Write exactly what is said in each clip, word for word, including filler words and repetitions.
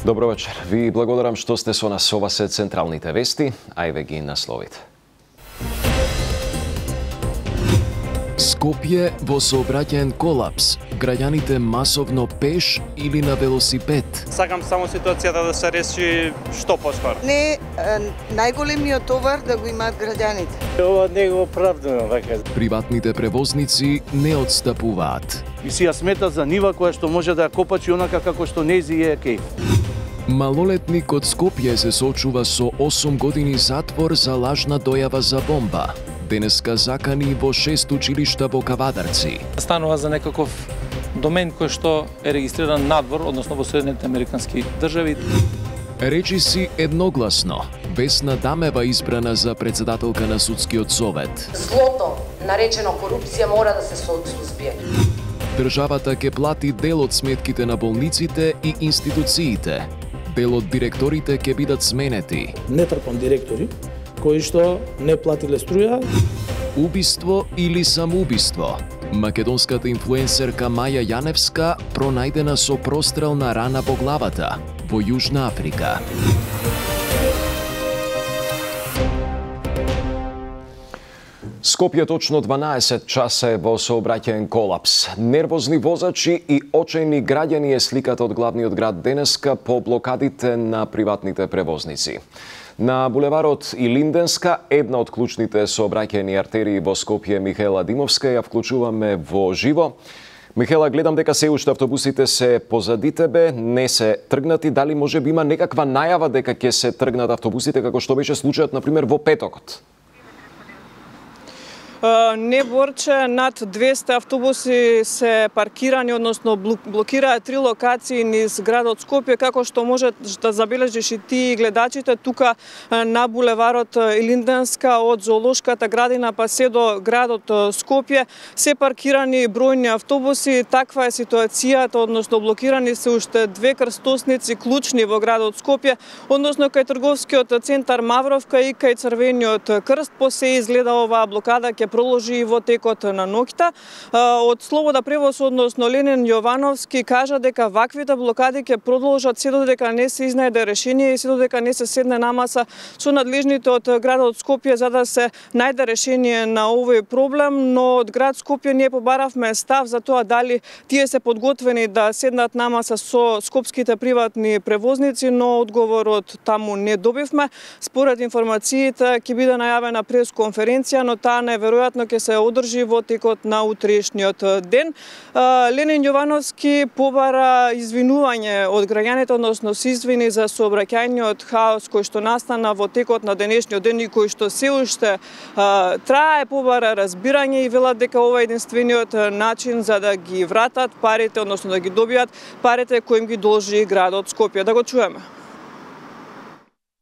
Добро вечер. Ви благодарам што сте со нас. Ова се централните вести, а еве ги насловите. Скопје во сообраќаен колапс. Граѓаните масовно пеш или на велосипед. Сакам само ситуацијата да се реши што поскоро. Не, најголемиот товар да го имаат граѓаните. Ова не го оправдувам вака. Приватните превозници не отстапуваат. И си ја смета за нива која што може да ја копачи онака како што нејзи е кејф. Малолетник од Скопје се соочува со осум години затвор за лажна дојава за бомба. Денеска закани во шест училишта во Кавадарци. Станува за некаков домен кој што е регистриран надвор, односно во Соединетите Американски држави. Речи си едногласно. Весна Дамева избрана за председателка на судскиот совет. Злото, наречено корупција, мора да се сузбие. Државата ќе плати дел од сметките на болниците и институциите. Дел од директорите ќе бидат сменети. Не трпам директори кои што не платиле струја. Убиство или самоубиство? Македонската инфлуенсерка Маја Јаневска пронајдена со прострелна рана во главата во Јужна Африка. Скопје точно дванаесет часа е во сообраќаен колапс. Нервозни возачи и очајни граѓани е сликата од главниот град денеска по блокадите на приватните превозници. На булеварот Илинденска, една од клучните сообраќајни артерии во Скопје, Михаела Димовска, ја вклучуваме во живо. Михаела, гледам дека се уште автобусите се позади тебе, не се тргнати. Дали може би има некаква најава дека ќе се тргнат автобусите, како што беше случајот, например, во петокот? Не, Борче, над двесте автобуси се паркирани, односно блокираат три локации низ градот Скопје, како што може да забележиш и ти гледачите тука на булеварот Илинденска од зоолошката градина па се до градот Скопје, се паркирани бројни автобуси. Таква е ситуацијата, односно блокирани се уште две крстосници клучни во градот Скопје, односно кај трговскиот центар Мавровка и кај Црвениот крст. По се изгледа оваа блокада ќе проложи во текот на ноќта. Од Слобода превоз, односно Ленин Јовановски, кажа дека ваквите блокади ќе продолжат се додека не се изнајде решение и се додека не се седне на маса со надлежните од градот Скопје за да се најде решение на овој проблем, но од град Скопје ние побаравме став за тоа дали тие се подготвени да седнат на маса со скопските приватни превозници, но одговорот таму не добивме. Според информациите ќе биде најавена пресконференција, но таа најверојатно ќе се одржи во текот на утрешниот ден. Ленин Јовановски побара извинување од граѓаните, односно се извини за сообраќајниот хаос кој што настана во текот на денешниот ден и кој што се уште трае. Побара разбирање и велат дека ова е единствениот начин за да ги вратат парите, односно да ги добијат парите кои им ги должи градот Скопје. Да го чуеме.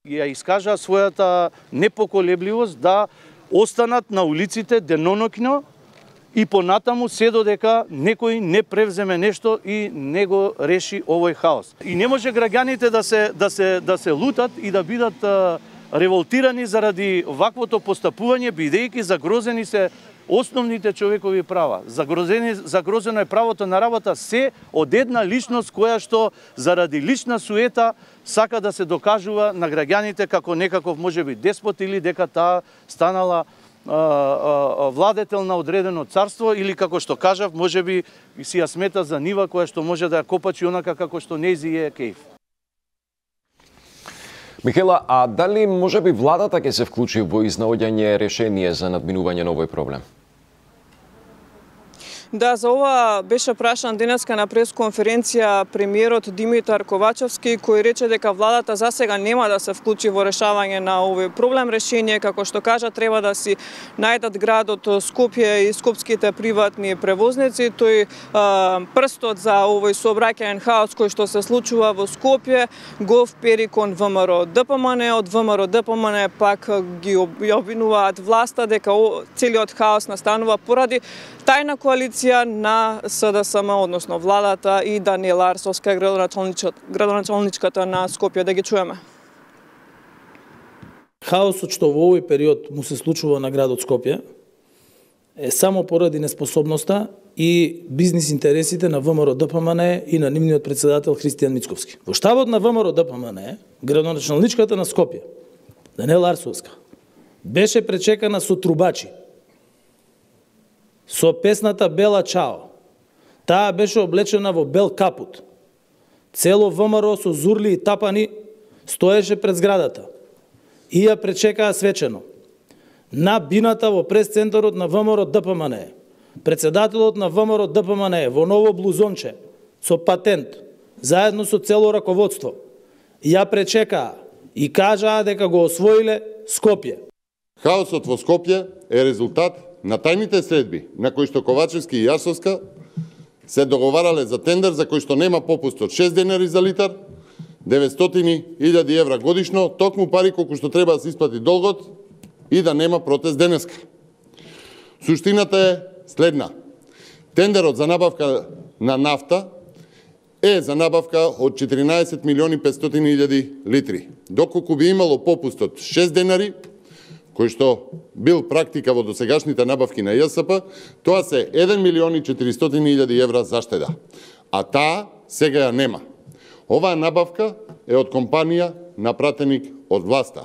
Ја искажа својата непоколебливост да останат на улиците деноноќно и понатаму се додека некој не превземе нешто и не го реши овој хаос. И не може граѓаните да се да се да се лутат и да бидат а, револтирани заради ваквото постапување, бидејќи загрозени се основните човекови права. Загрозени, загрозено е правото на работа се од една личност која што заради лична суета сака да се докажува на граѓаните како некаков можеби деспот или дека таа станала а, а, владетел на одредено царство или како што кажав, можеби си ја смета за нива која што може да ја копачи онака како што нејзи е кејф. Михаела, а дали можеби владата ќе се вклучи во изнаоѓање решение за надминување на овој проблем? Да, за ова беше прашан денеска на пресконференција премиерот Димитар Ковачевски, кој рече дека владата за сега нема да се вклучи во решавање на овој проблем. Решение, како што кажа, треба да си најдат градот Скопје и скопските приватни превозници. Тој а, прстот за овој сообраќаен хаос кој што се случува во Скопје го впери кон ВМРО ДПМН, од ВМРО ДПМН пак ги обвинуваат власта дека целиот хаос настанува поради тајна коалиција на СДСМ, односно владата и Даниела Арсовска, градоначалничката на Скопје. Да ги чуеме. Хаосот што во овој период му се случува на градот Скопје е само поради неспособноста и бизнис интересите на ВМРО Д П М Н и на нивниот председател Христијан Мицковски. Во штабот на ВМРО Д П М Н, градоначалничката на Скопје, Даниела Арсовска, беше пречекана со трубачи, со песната Бела Чао. Таа беше облечена во бел капут. Цело ВМРО со зурли и тапани стоеше пред зградата и ја пречекаа свечено. На бината во прес-центарот на ВМРО Д П М Н, председателот на ВМРО Д П М Н во ново блузонче, со патент, заедно со цело раководство, ја пречекаа и кажаа дека го освоиле Скопје. Хаосот во Скопје е резултат на тајните средби на кои што Ковачевски и Јарсовска се договарале за тендер за кој што нема попуст од шест денари за литар, деветстотини илјади евра годишно, токму пари колку што треба да се исплати долгот и да нема протест денеска. Суштината е следна. Тендерот за набавка на нафта е за набавка од четиринаесет милиони петстотини илјади литри. Доколку би имало попуст од шест денари, кој што бил практика во досегашните набавки на Ја С П, тоа се еден милион и четиристотини илјади евра заштеда. А таа сега ја нема. Оваа набавка е од компанија на пратеник од власта.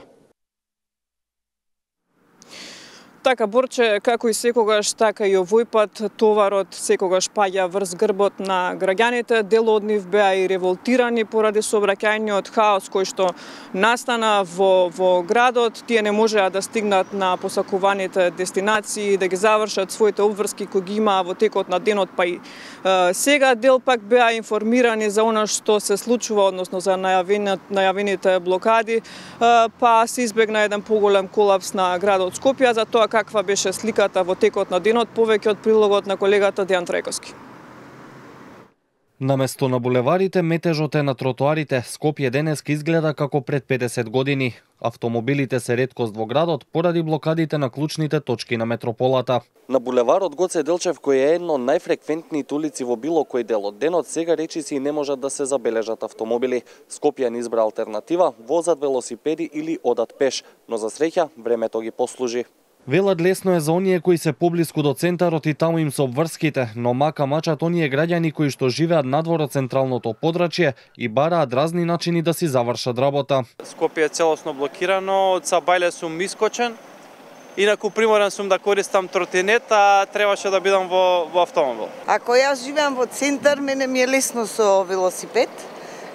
Така, Борче, како и секогаш, така и овој пат товарот секогаш паѓа врз грбот на граѓаните. Дел од нив беа и револтирани поради сообраќајниот хаос кој што настана во, во градот. Тие не можеа да стигнат на посакуваните дестинации, да ги завршат своите обврски кои ги имаа во текот на денот, па и е, сега дел пак беа информирани за она што се случува, односно за најавените блокади, е, па се избегна еден поголем колапс на градот Скопје. За тоа каква беше сликата во текот на денот, повеќе од прилогот на колегата Дејан Трајковски. Наместо на булеварите, метежот е на тротоарите. Скопје денеска изгледа како пред педесет години. Автомобилите се реткост во градот поради блокадите на клучните точки на метрополата. На булеварот Гоце Делчев, кој е едно од најфреквентните улици во било кој дел од денот, сега речиси не можат да се забележат автомобили. Скопјан избра алтернатива, возат велосипеди или одат пеш, но за среќа времето ги послужи. Велат лесно е за оние кои се поблиску до центарот и таму им се обврските, но мака мачат оние граѓани кои што живеат надвор од централното подрачје и бараат разни начини да си завршат работа. Скопје е целосно блокирано, од Сабајле сум искочен, инаку приморен сум да користам тротинет, а требаше да бидам во, во автомобил. Ако јас живеам во центар, мене ми е лесно со велосипед,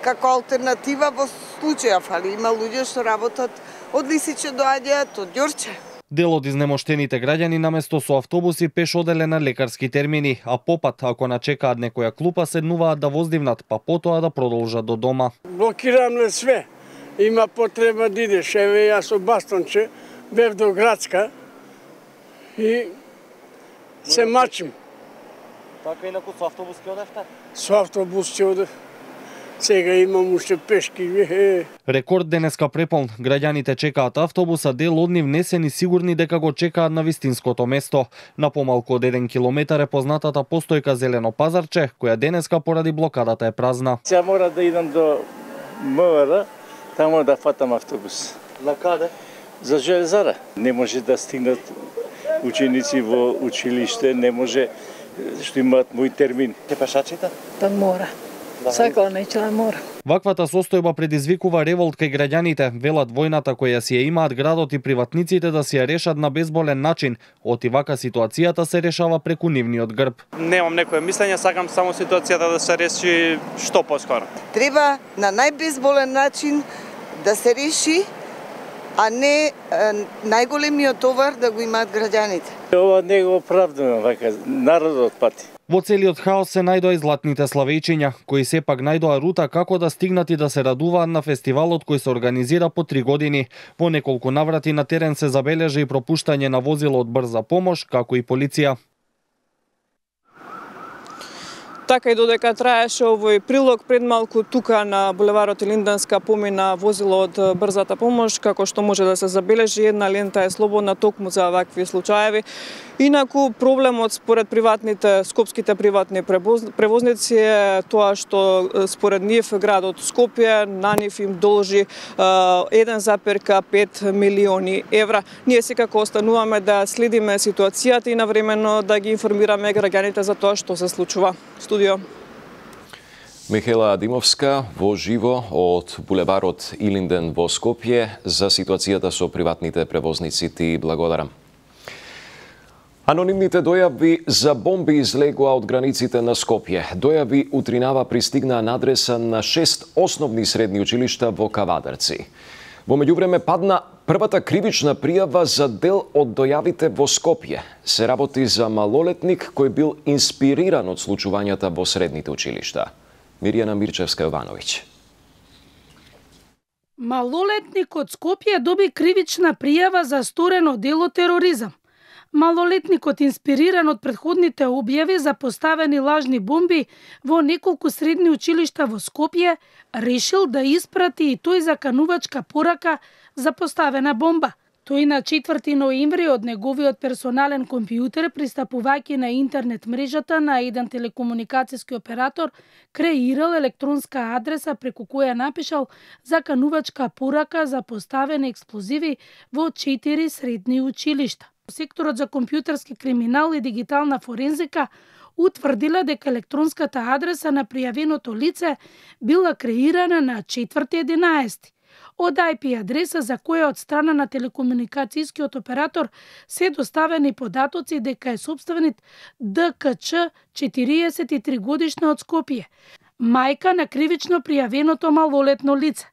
како алтернатива во случаја фали. Има луѓе што работат од Лисиче доаѓаат од Ѓорче. Дел од изнемоштените граѓани наместо со автобуси пеш оделе на лекарски термини, а попат, ако начекаат некоја клупа, седнуваат да воздивнат, па потоа да продолжат до дома. Блокирано све. Има потреба да идеш. Еве јас со бастонче бев до градска и се мачим. Така инаку со автобус ќе одевте? Со автобус ќе одев. Сега имам уште пешки. Рекорд денеска преполн. Граѓаните чекаат автобуса, дел од нив не се ни сигурни дека го чекаат на вистинското место. На помалку од еден километар е познатата постојка Зелено пазарче, која денеска поради блокадата е празна. Сега мора да идам до МВР, таму да фатам автобус. На каде? За Железара. Не може да стигнат ученици во училиште, не може што имаат мој термин. Ке пешачите? Да мора. Сакала неќе да мора. Ваквата состојба предизвикува револт кај граѓаните, велат војната која си ја имаат градот и приватниците да си ја решат на безболен начин. Оти вака ситуацијата се решава преку нивниот грб. Немам некое мислење, сакам само ситуацијата да се реши што поскоро. Треба на најбезболен начин да се реши, а не е, најголемиот товар да го имаат граѓаните. Ова не го оправдувам, вака народот пати. Во целиот хаос се најдоа и златните славејчиња, кои сепак најдоа рута како да стигнат и да се радуваат на фестивалот кој се организира по три години. Во неколку наврати на терен се забележа и пропуштање на возило од брза помош, како и полиција. Така и додека траеше овој прилог, пред малку тука на булеварот Илинденска помина возило од брзата помош, како што може да се забележи, една лента е слободна токму за вакви случаеви. Инаку проблемот според приватните, скопските приватни превозници е тоа што според нив градот Скопје на нив им должи еден запир пет милиони евра. Ние секако остануваме да следиме ситуацијата и навремено да ги информираме граѓаните за тоа што се случува. Студио. Михаела Димовска во живо од булеварот Илинден во Скопје за ситуацијата со приватните превозници. Ти благодарам. Анонимните дојави за бомби излегоа од границите на Скопје. Дојави утринава пристигнаа на адреса на шест основни средни училишта во Кавадарци. Во меѓувреме падна првата кривична пријава за дел од дојавите во Скопје. Се работи за малолетник кој бил инспириран од случувањата во средните училишта. Мирјана Мирчевска-Јовановиќ. Малолетник од Скопје доби кривична пријава за сторено дело тероризам. Малолетникот, инспириран од претходните објави за поставени лажни бомби во неколку средни училишта во Скопје, решил да испрати и тој заканувачка порака за поставена бомба. Тој на четврти ноември од неговиот персонален компјутер, пристапувајќи на интернет мрежата на еден телекомуникацијски оператор, креирал електронска адреса преку која напишал заканувачка порака за поставени експлозиви во четири средни училишта. Секторот за компјутерски криминал и дигитална форензика утврдила дека електронската адреса на пријавеното лице била креирана на четврти единаесети од ај пи адреса за која од страна на телекомуникацијскиот оператор се доставени податоци дека е сопственик Д К Ч, четириесет и три годишна од Скопје, мајка на кривично пријавеното малолетно лице.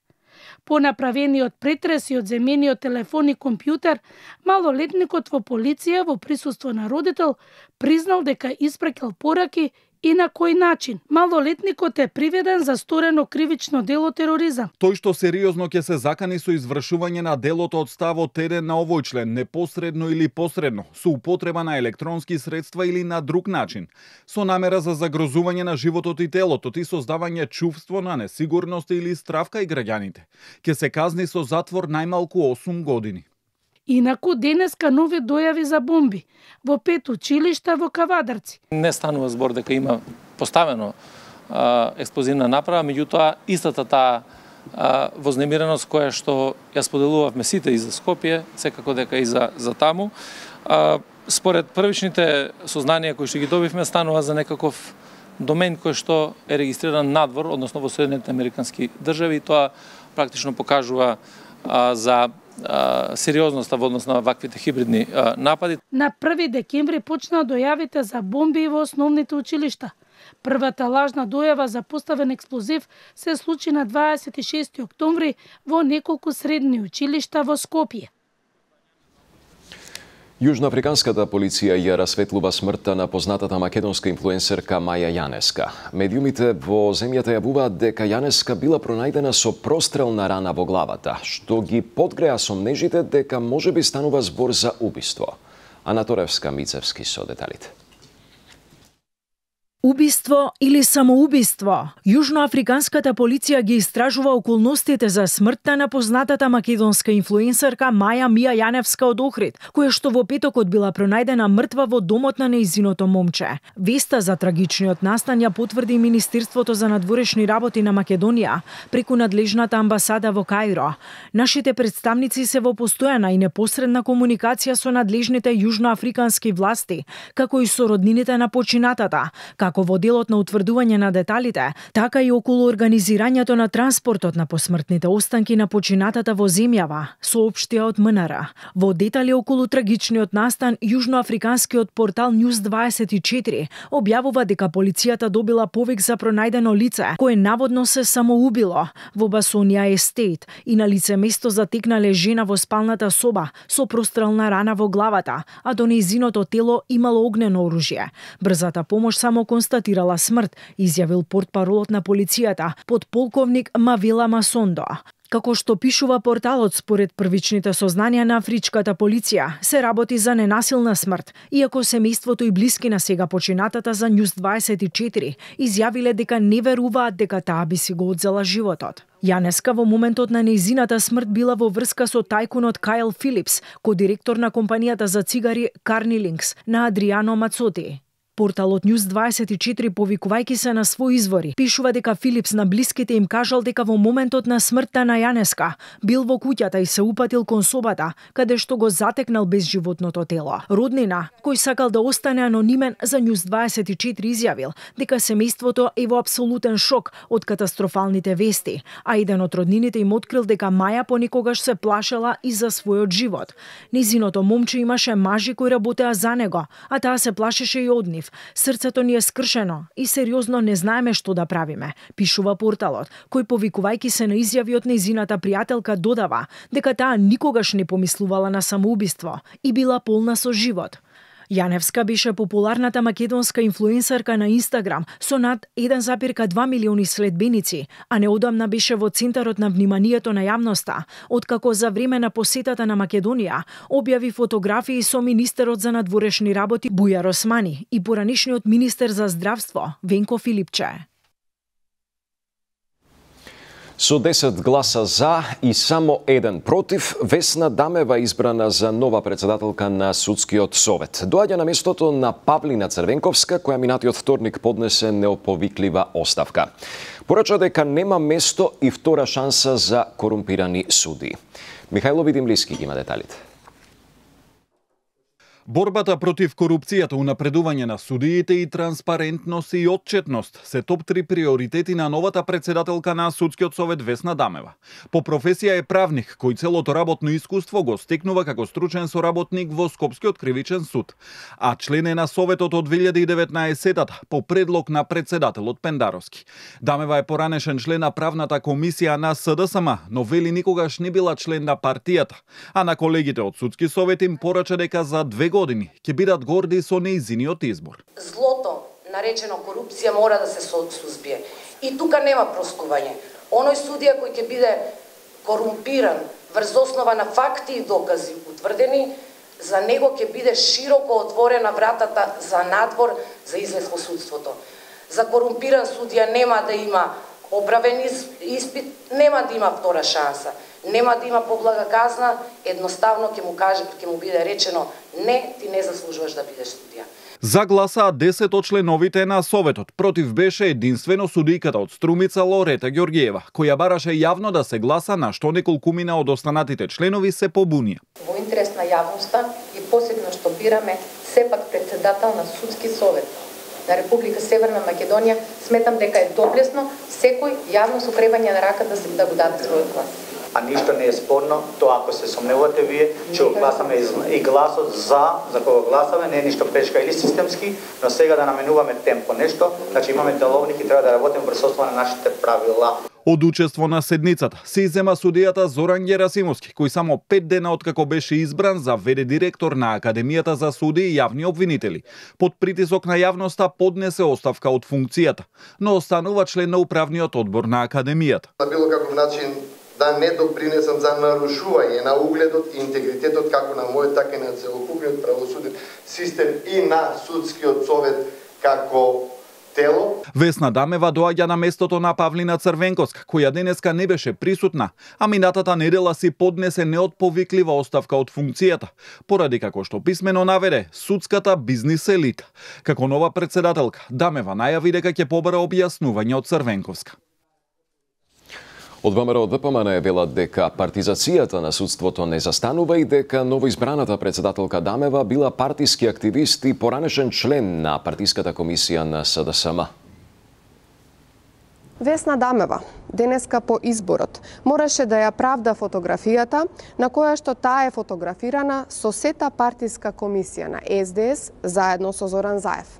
По направениот претрес и одземениот телефон и компјутер, малолетникот во полиција во присуство на родител признал дека испрекал пораки и на кој начин. Малолетникот е приведен за сторено кривично дело тероризам. Тој што сериозно ќе се закани со извршување на делото од ставот еден на овој член, непосредно или посредно, со употреба на електронски средства или на друг начин, со намера за загрозување на животот и телото и создавање чувство на несигурност или страв кај граѓаните, ќе се казни со затвор најмалку осум години. Инаку денеска нови дојави за бомби во пет училишта во Кавадарци. Не станува збор дека има поставено а, експлозивна направа, меѓутоа истата таа а, вознемиреност која што ја споделувавме сите и за Скопје, секако дека и за, за таму. А, според првичните сознанија кои што ги добивме, станува за некаков домен кој што е регистриран надвор, односно во Соединетите Американски држави, и тоа практично покажува а, за сериозноста во однос на ваквите хибридни а, напади. На први декември почнаа дојавите за бомби во основните училишта. Првата лажна дојава за поставен експлозив се случи на дваесет и шести октомври во неколку средни училишта во Скопје. Јужноафриканската полиција ја расветлува смртта на познатата македонска инфлуенсерка Маја Јаневска. Медиумите во земјата јавуваат дека Јаневска била пронајдена со прострелна рана во главата, што ги подгреа сомнежите дека можеби станува збор за убиство. Ана Торевска-Мицевски со деталите. Убиство или самоубиство? Јужноафриканската полиција ги истражува околностите за смртта на познатата македонска инфлуенсерка Маја Мија Јаневска од Охрид, која што во петокот била пронајдена мртва во домот на нејзиното момче. Веста за трагичниот настан ја потврди Министерството за надворешни работи на Македонија преку надлежната амбасада во Каиро. Нашите представници се во постојана и непосредна комуникација со надлежните јужноафрикански власти, како и со роднините на починатата, како во делот на утврдување на деталите, така и околу организирањето на транспортот на посмртните останки на починатата во земјава, соопштија од М Н Р. Во детали околу трагичниот настан, јужноафриканскиот портал Нјуз дваесет и четири објавува дека полицијата добила повик за пронајдено лице, кое наводно се самоубило во Басонија Естейт и на лице место затекнале жена во спалната соба со прострелна рана во главата, а до нејзиното тело имало огнено оружје. Брзата помош само констатирала смрт, изјавил портпаролот на полицијата, подполковник Мавела Масондо. Како што пишува порталот, според првичните сознанија на афричката полиција, се работи за ненасилна смрт, иако семејството и блиски на сега починатата за Њуз дваесет и четири изјавиле дека не веруваат дека таа би си го одзела животот. Јаневска во моментот на нејзината смрт била во врска со тајкунот Кайл Филипс, ко-директор на компанијата за цигари Карнилинкс на Адриано Мацоти. Порталот Њуз дваесет и четири, повикувајќи се на своји извори, пишува дека Филипс на блиските им кажал дека во моментот на смртта на Јаневска бил во куќата и се упатил кон собата, каде што го затекнал безживотното тело. Роднина, кој сакал да остане анонимен, за Њуз дваесет и четири изјавил дека семејството е во апсолутен шок од катастрофалните вести, а еден од роднините им открил дека Маја понекогаш се плашела и за својот живот. Незиното момче имаше мажи кои работеа за него, а таа се плашеше и од нив. Срцето ни е скршено и сериозно не знаеме што да правиме, пишува порталот, кој повикувајќи се на изјави од нејзината пријателка додава дека таа никогаш не помислувала на самоубиство и била полна со живот. Јаневска беше популарната македонска инфлуенсерка на Инстаграм со над еден зарез два милиони следбеници, а неодамна беше во центарот на вниманието на јавноста, откако за време на посетата на Македонија објави фотографии со министерот за надворешни работи Бујар Османи и поранешниот министер за здравство Венко Филипче. Со десет гласа за и само еден против, Весна Дамева избрана за нова председателка на Судскиот совет. Доаѓа на местото на Павлина Црвенковска, која минатиот вторник поднесе неоповиклива оставка. Порача дека нема место и втора шанса за корумпирани суди. Михајло Видимлиски ги има деталите. Борбата против корупцијата, унапредување на судиите и транспарентност и отчетност се топ три приоритети на новата председателка на Судскиот совет Весна Дамева. По професија е правник, кој целото работно искуство го стекнува како стручен соработник во Скопскиот кривичен суд, а член е на Советот од две илјади и деветнаесетта по предлог на председателот Пендаровски. Дамева е поранешен член на правната комисија на С Д С М, но вели никогаш не била член на партијата, а на колегите од Судски совет им порача дека за две години ќе бидат горди со нејзиниот избор. Злото, наречено корупција, мора да се сузбие. И тука нема простување. Оној судија кој ќе биде корумпиран врз основа на факти и докази утврдени, за него ќе биде широко отворена вратата за надвор за излез во судството. За корумпиран судија нема да има оправен испит, нема да има втора шанса. Нема да има поблага казна, едноставно ќе му каже, ќе му биде речено не, ти не заслужуваш да бидеш судија. За гласаа десет од членовите на Советот. Против беше единствено судијката од Струмица Лорета Ѓоргиева, која бараше јавно да се гласа, на што неколкумина од останатите членови се побунија. Во интерес на јавноста и посебно што бираме сепак председател на Судски совет на Република Северна Македонија, сметам дека е доблесно секој јавно со кревање на рака да, да го даде својот глас. А ништо не е спорно, тоа ако се сомневате вие, че го гласаме и гласот за, за кога гласаме, не е ништо прешка или системски, но сега да наменуваме темпо нешто, значи имаме деловник и треба да работиме врз основа на нашите правила. Од учество на седницата се иззема судијата Зоран Герасимовски, кој само пет дена откако беше избран за ве де директор на Академијата за суди и јавни обвинители. Под притисок на јавноста поднесе оставка од функцијата, но останува член на управниот одбор на Академијата. На било каков начин да не допринесам за нарушување на угледот и интегритетот како на мојот, така и на целокупниот правосуден систем и на Судскиот совет како тело. Весна Дамева доаѓа на местото на Павлина Црвенковска, која денеска не беше присутна, а минатата недела си поднесе неотповиклива оставка од функцијата, поради како што писмено наведе судската бизнис елита. Како нова председателка, Дамева најави дека ќе побара објаснување од Црвенковска. Од ВМРО Д П М Н велат дека партизацијата на судството не застанува и дека новоизбраната председателка Дамева била партиски активист и поранешен член на партиската комисија на С Д С М. Весна Дамева денеска по изборот мораше да ја правда фотографијата на која што таа е фотографирана со сета партиска комисија на С Д С заедно со Зоран Заев.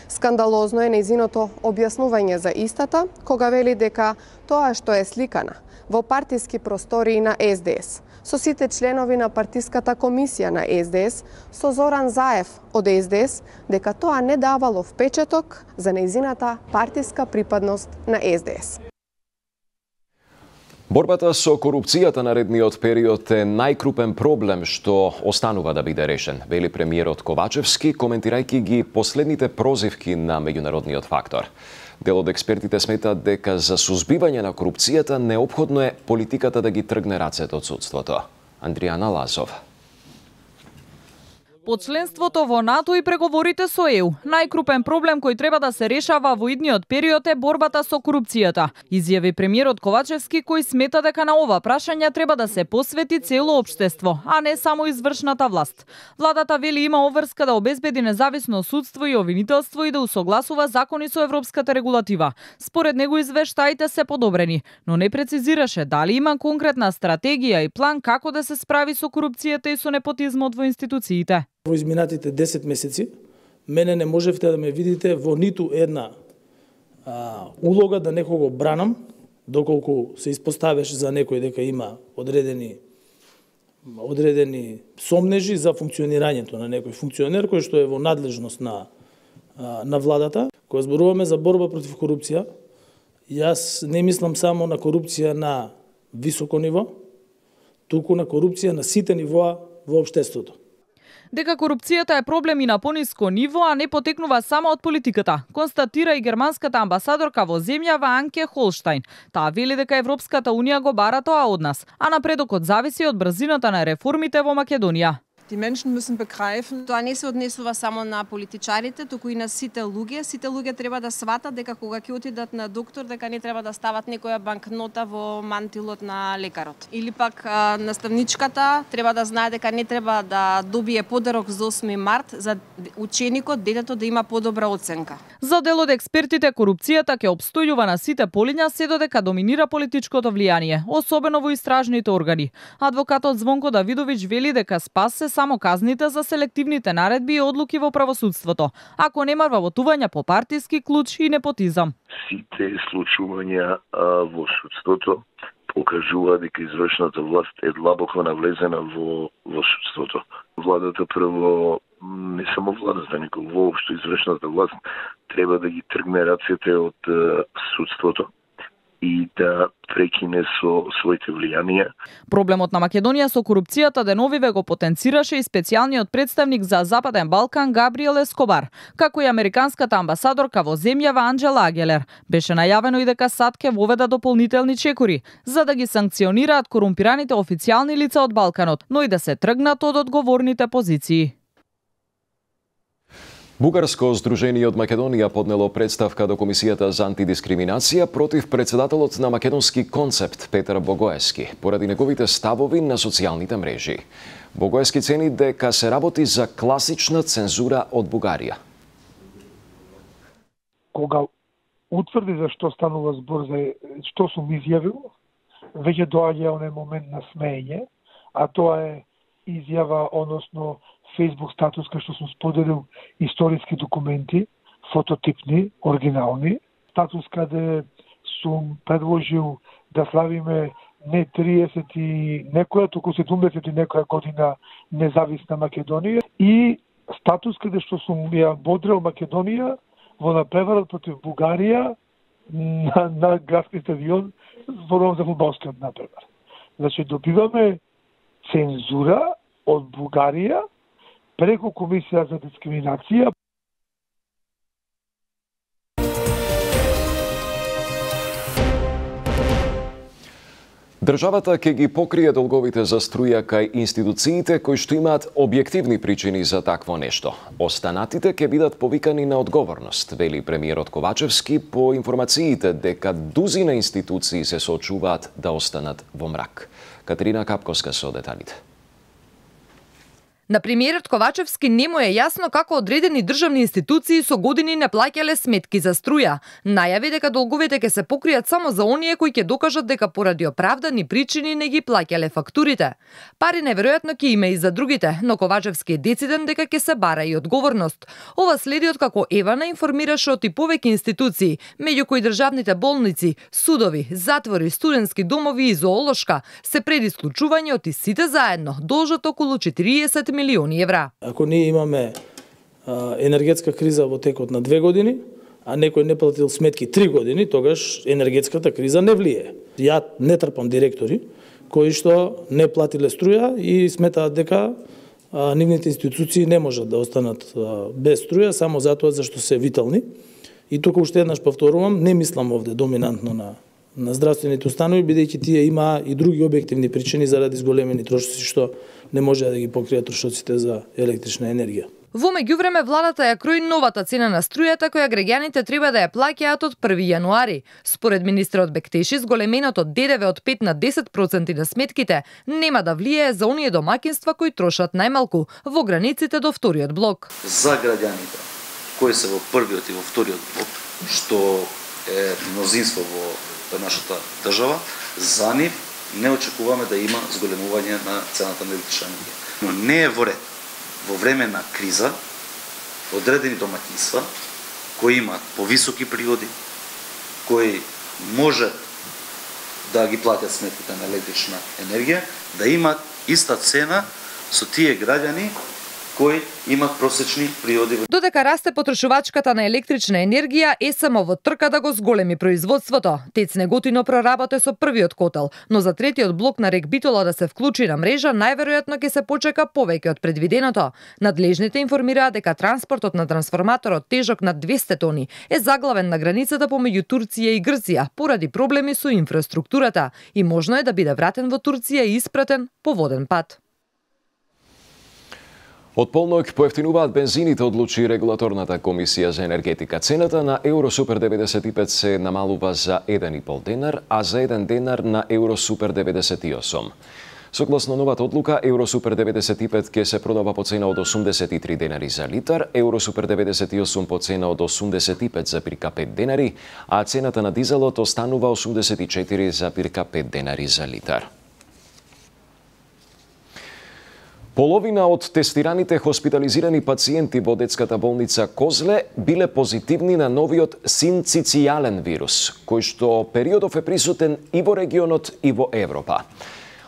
Скандалозно е нејзиното објаснување за истата, кога вели дека тоа што е сликана во партиски простории на С Д С, со сите членови на партиската комисија на С Д С, со Зоран Заев од С Д С, дека тоа не давало впечаток за нејзината партиска припадност на С Д С. Борбата со корупцијата наредниот период е најкрупен проблем што останува да биде решен, вели премиерот Ковачевски, коментирајќи ги последните прозивки на меѓународниот фактор. Дел од експертите сметат дека за сузбивање на корупцијата неопходно е политиката да ги тргне рацете од судството. Андријана Лазов. По членството во НАТО и преговорите со Е У, најкрупен проблем кој треба да се решава во идниот период е борбата со корупцијата, изјави премиерот Ковачевски, кој смета дека на ова прашање треба да се посвети цело општество, а не само извршната власт. Владата вели има обврска да обезбеди независно судство и обвинителство и да усогласува закони со европската регулатива. Според него извештаите се подобрени, но не прецизираше дали има конкретна стратегија и план како да се справи со корупцијата и со непотизмот во институциите. Во изминатите десет месеци, мене не можевте да ме видите во ниту една а, улога да некого бранам, доколку се испоставеше за некој дека има одредени одредени сомнежи за функционирањето на некој функционер кој што е во надлежност на а, на владата. Кога зборуваме за борба против корупција, јас не мислам само на корупција на високо ниво, туку на корупција на сите нивоа во општеството. Дека корупцијата е проблем и на пониско ниво, а не потекнува само од политиката, констатира и германската амбасадорка во земјава Анке Холштајн. Таа вели дека Европската унија го бара тоа од нас, а напредокот зависи од брзината на реформите во Македонија. Die Menschen müssen begreifen, тоа не се однесува само на политичарите, туку и на сите луѓе. Сите луѓе треба да сватат дека кога ќе отидат на доктор, дека не треба да стават некоја банкнота во мантилот на лекарот. Или пак наставничката треба да знае дека не треба да добие подарок за осми март, за ученикот, детето да има подобра оценка. За дел од експертите, корупцијата ќе обстојува на сите полиња се додека доминира политичкото влијание, особено во истражните органи. Адвокатот Звонко Давидовиќ вели дека спас се само казните за селективните наредби и одлуки во правосудството, ако нема вработување по партиски клуч и непотизам. Сите случувања во судството покажува дека извршната власт е длабоко навлезена во, во судството. Владата прво, не само владата, него воопшто извршната власт треба да ги тргне рацете од судството и да прекине со своите влијанија. Проблемот на Македонија со корупцијата деновиве го потенцираше и специјалниот представник за Западен Балкан Габриел Ескобар, како и американската амбасадорка во земјава Анџела Агелер. Беше најавено и дека САД ќе воведа дополнителни чекори за да ги санкционираат корумпираните официјални лица од Балканот, но и да се тргнат од одговорните позиции. Бугарско здружение од Македонија поднело представка до Комисијата за антидискриминација против председателот на Македонски концепт Петар Богоевски поради неговите ставови на социјалните мрежи. Богоевски цени дека се работи за класична цензура од Бугарија. Кога утврди за што станува збор за што сум изјавил, веќе доаѓа оној момент на смеење, а тоа е изјава, односно Facebook статус кај што сум споделил историски документи, фототипни, оригинални. Статус каде сум предложил да славиме не триесет и некоја, туку седумдесет и некоја година независна Македонија. И статус каде што сум ја бодрел Македонија во напреварот против Бугарија на, на градски стадион, зборувам за фудбалскиот напревар. Значи добиваме цензура од Бугарија преку Комисија за дискриминација. Државата ќе ги покрие долговите за струја кај институциите кои што имаат објективни причини за такво нешто. Останатите ќе бидат повикани на одговорност, вели премиерот Ковачевски по информациите дека дузина институции се соочуваат да останат во мрак. Катерина Капковска со деталите. На премиерот Ковачевски не му е јасно како одредени државни институции со години не плаќале сметки за струја. Најави дека долговите ќе се покријат само за оние кои ќе докажат дека поради оправдани причини не ги плаќале фактурите. Пари неверојатно ќе има и за другите, но Ковачевски е дециден дека ќе се бара и одговорност. Ова следи од како Евана информираше од и повеќе институции, меѓу кои државните болници, судови, затвори, студентски домови и зоолошка, се пред исклучување од и сите заедно должат околу четириесет милиони евра. Ако ние имаме а, енергетска криза во текот на две години, а некој не платил сметки три години, тогаш енергетската криза не влие. Ја не трпам директори кои што не платиле струја и сметаат дека а, нивните институции не можат да останат а, без струја само затоа зашто се витални. И тука уште еднаш повторувам, не мислам овде доминантно на на здравствените установи, бидејќи тие има и други објективни причини заради зголемени трошоци што не може да ги покријат трошоците за електрична енергија. Во меѓувреме владата ја крои новата цена на струјата која граѓаните треба да ја плаќаат од први јануари. Според министерот Бектеши, зголеменото ДДВ од пет на десет проценти на сметките нема да влијае за оние домаќинства кои трошат најмалку во границите до вториот блок. За граѓаните кои се во првиот и во вториот блок, што е мнозинство во нашата држава, за нив не очекуваме да има зголемување на цената на електрична енергија. Но не е во ред во време на криза одредени домаќинства кои имаат повисоки приходи, кои може да ги платят сметките на електрична енергија, да имаат иста цена со тие граѓани кои имат просечни приходи. Додека расте потрошувачката на електрична енергија, ЕСМ во трка да го зголеми производството. ТЕЦ Неготино проработе со првиот котел, но за третиот блок на Рек Битола да се вклучи на мрежа, најверојатно ќе се почека повеќе од предвиденото. Надлежните информираат дека транспортот на трансформаторот тежок на двесте тони е заглавен на границата помеѓу Турција и Грција поради проблеми со инфраструктурата и можно е да биде вратен во Турција и испратен по воден пат. Од полнок поевтинуваат бензините, одлучи регулаторната комисија за енергетика. Цената на Евросупер деветдесет и пет се намалува за еден и пол денар, а за еден денар на Евросупер деветдесет и осум. Согласно новата одлука, Евросупер деветдесет и пет ќе се продава по цена од осумдесет и три денари за литар, Евросупер деветдесет и осум по цена од осумдесет и пет запирка пет денари, а цената на дизелот останува осумдесет и четири запирка пет денари за литар. Половина од тестираните хоспитализирани пациенти во детската болница Козле биле позитивни на новиот синцитијален вирус, кој што периодов е присутен и во регионот и во Европа.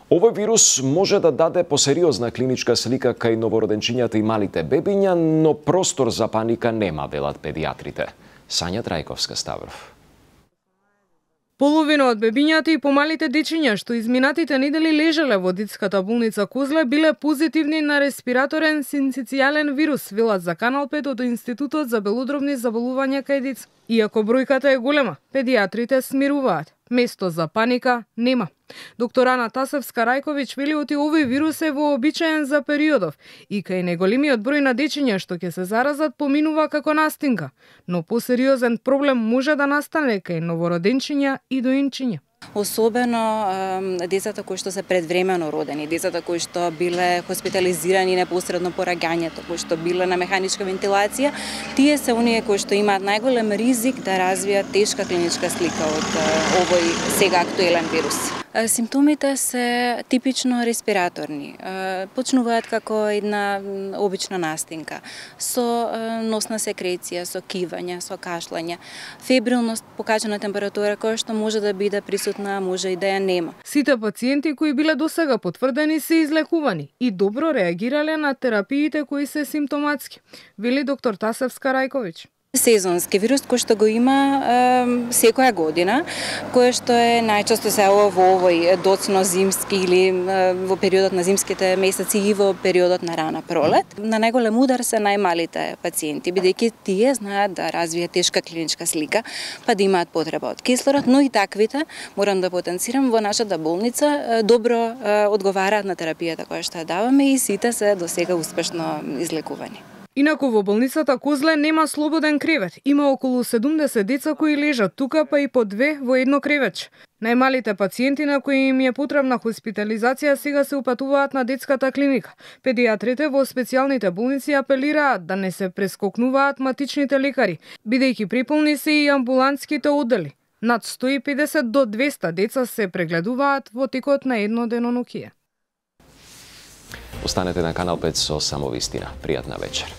Овој вирус може да даде посериозна клиничка слика кај новороденчињата и малите бебиња, но простор за паника нема, велат педиатрите. Сања Трајковска Ставров. Половина од бебињата и помалите дечиња што изминатите недели лежеле во детската болница Козле биле позитивни на респираторен синцитијален вирус, велат за Канал пет од Институтот за белодробни заболувања кај деца. Иако бројката е голема, педиатрите смируваат. Место за паника нема. Доктор Ана Тасевска-Рајковиќ вели оти овој вирус е вообичаен за периодов и кај неголемиот број на дечиња што ќе се заразат поминува како настинка, но посериозен проблем може да настане кај новороденчиња и доинчиња. Особено децата кои што се предвремено родени, децата кои што биле хоспитализирани непосредно по раѓањето, кои што биле на механичка вентилација, тие се оние кои што имаат најголем ризик да развијат тешка клиничка слика од овој сега актуелен вирус. Симптомите се типично респираторни. Почнуваат како една обична настинка, со носна секреција, со кивање, со кашлање, фебрилност, покачена температура која што може да биде присутна, може и да ја нема. Сите пациенти кои биле досега потврдени се излекувани и добро реагирале на терапиите кои се симптоматски, вели доктор Тасевска-Рајковиќ. Сезонски вирус кој што го има е, секоја година, кој што е најчесто се во овој доцно зимски или е, во периодот на зимските месеци и во периодот на рана пролет. На најголем удар се најмалите пациенти, бидејќи тие знаат да развијат тешка клиничка слика, па да имаат потреба од кислород, но и таквите, морам да потенцирам, во нашата болница добро е, одговараат на терапијата која што ја даваме и сите се досега успешно излекувани. Инаку во болницата Козле нема слободен кревет. Има околу седумдесет деца кои лежат тука, па и по две во едно кревече. Најмалите пациенти на кои им е потребна хоспитализација сега се упатуваат на детската клиника. Педиатрите во специјалните болници апелираат да не се прескокнуваат матичните лекари, бидејќи приполни се и амбулантските оддели. Над сто и педесет до двесте деца се прегледуваат во текот на едно денонокие. Останете на Канал пет со само вистина. Пријатна вечер.